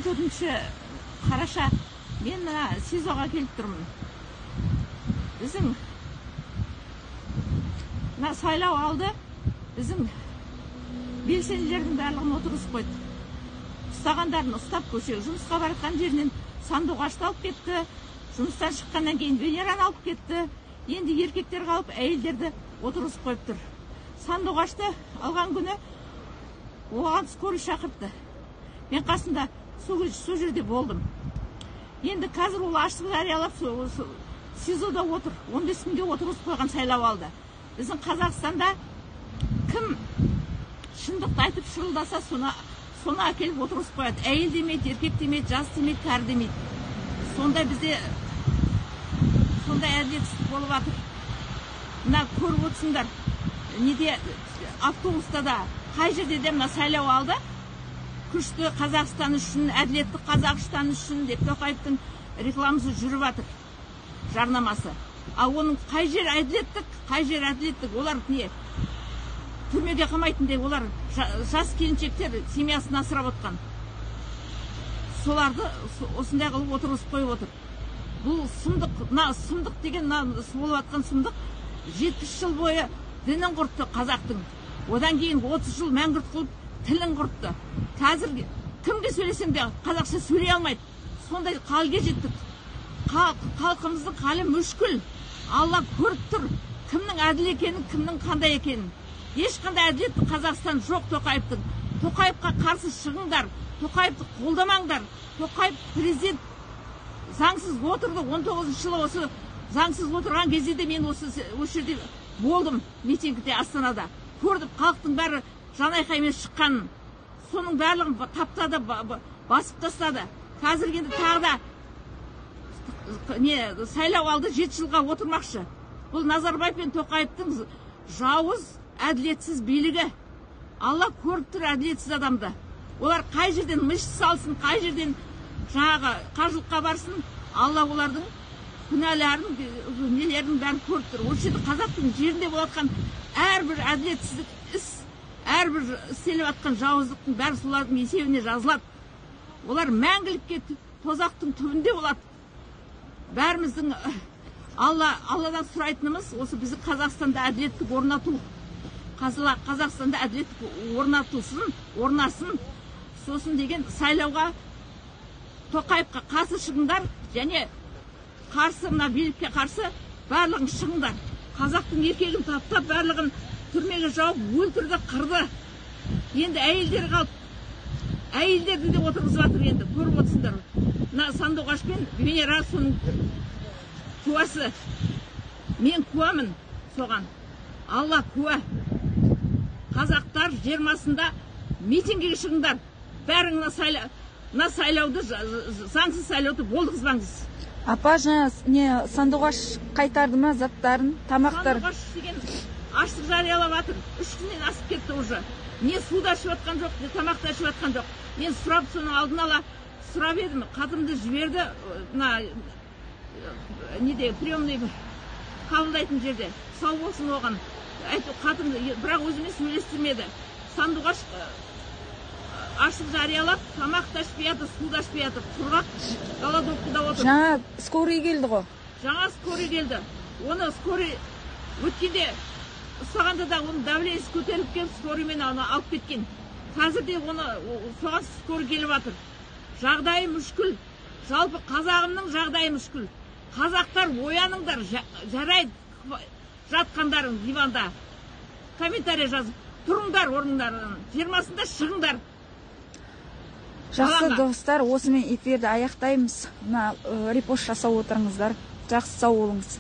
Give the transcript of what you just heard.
14 қараша мен мына СИЗОға келіп тұрмын. Біздің мына сайлау алды, біздің белсенділердің барлығын отырғызып қойды. Ұстағандарын ұстап көшеге, жұмысқа баратқан жерінен сандуғашты алып кетті, жұмыстан шыққаннан кейін Венераны алып кетті. Енді еркектер қалып, әйелдерді отырғызып қойып тұр. Сандуғашты алған күні оған скорый шақыртты. Мен қасында сол жерде болдым. Енді қазір ол ашық жариялап СИЗОда отыр. 15 күнге отырғызып қойған сайлау алды. Біздің Қазақстанда кім шындықты айтып шырылдаса, соны әкеліп отырғызып қояды. Әйел демейді, еркек демейді, жас демейді, кәрі демейді. Сонда бізде сондай әділетсіздік болып жатыр. Мына көріп отырсыңдар, неде автобуста да қай жерде де мына сайлау алды. Күшті Қазақстан үшін, әділетті Қазақстан үшін деп Тоқаевтың рекламасы жүріп жатыр, жарнамасы. Ал оның қай жер әділеттік, қай жер әділеттік, олар не? Түрмеге қамайтын деп, олар жас келіншектер семьясын асырап отқан. Соларды осындай қылып отырғызып қойып отыр. Бұл сұмдық деген, болып жатқан сұмдық 70 жыл бойы дінін құртты қазақтың. Одан кейін 30 жыл мәңгүрт қылып тілін құртты. Қазір кімге сөйлесең де қазақша сөйлей алмайды. Сондай халге жеттік. Халқымыздың халі мүшкіл. Алла көріп тұр, кімнің әділ екенін, кімнің қандай екенін. Ешқандай әділетті Қазақстан жоқ Тоқаевтың. Тоқаевқа қарсы шығыңдар, Тоқаевты қолдамаңдар. Тоқаев президент заңсыз отырды. 19 жылы осы заңсыз отырған кезде де мен осы жерде болдым, митингте Астанада. Көрдім, халықтың бәрі жанайқаймен шыққанын. Соның барлығын таптады, басып тастады. Қазір енді тағы да сайлау алды, 7 жылға отырмақшы. Бұл Назарбаев пен Тоқаевтың жауыз, әділетсіз билігі. Алла көріп тұр әділетсіз адамды. Олар қай жерден мышь салсын, қай жерден жаңағы қажылыққа барсын, Алла олардың күнәларын, нелерін бәрін көріп тұр. Осы жерде қазақтың жерінде болатқан әрбір әділетсіздік іс, әрбір істеліп жатқан жауыздықтың бәрі солардың есебіне жазылады. Олар мәңгілікке тозақтың түбінде болады. Бәріміздің Алладан сұрайтынымыз осы біздің Қазақстанда әділеттік орнату. Қазақстанда әділеттік орнасын. Сосын деген сайлауға Тоқаевқа қарсы шығыңдар, және қарсы, мына билікке қарсы барлығын шығыңдар. Қазақтың еркегін таптап, барлығын түрмеге жауып, өлтірді, қырды. Енді әйелдер қалып, әйелдерді де отырғызып жатыр енді, көріп отырсыңдар. Сандуғаш пен Венера соның куәсі. Мен куәмін соған. Алла куә. Қазақтар 20-сында митингіге шығыңдар. Бәрің сайлауды, заңсыз сайлауды болдығызбаңыз. Апа, жаңа сандуғаш қайтарды ма заттарын, тамақтар? Сандуғаш деген аштық жариялап жатыр. 3 күннен асып кетті уже. Не суда ішіп жатқан жоқ, не тамақта ішіп жатқан жоқ. Мен сұрап, соның алдын ала сұрап едім. Қатымды жіберді, приемный қабылдайтын жерде. Сау болсын оған. Қатымды, бірақ өзіме сөйлестірмеді. Сандуғаш ашық жариялап, тамақ та ішпей жатыр, су да ішпей жатыр. Құрғақ голодовкада отыр. Жаңа скорый келді ғой. Жаңа скорый келді. Оны скорый өткенде ұстағанда да оның давлениесі көтеріліп келіп, скорыймен алып кеткен. Қазір де оны соған скорый келіп жатыр. Жағдайы мүшкіл. Жалпы қазағымның жағдайы мүшкіл. Қазақтар ояныңдар, жарайды жатқандарың диванда. Комментарий жазып, тұрыңдар орындарынан. 20-сында шығыңдар. Жақсы достар, осымен эфирді аяқтаймыз. Репост жасап отырыңыздар. Жақсы, сау болыңыз.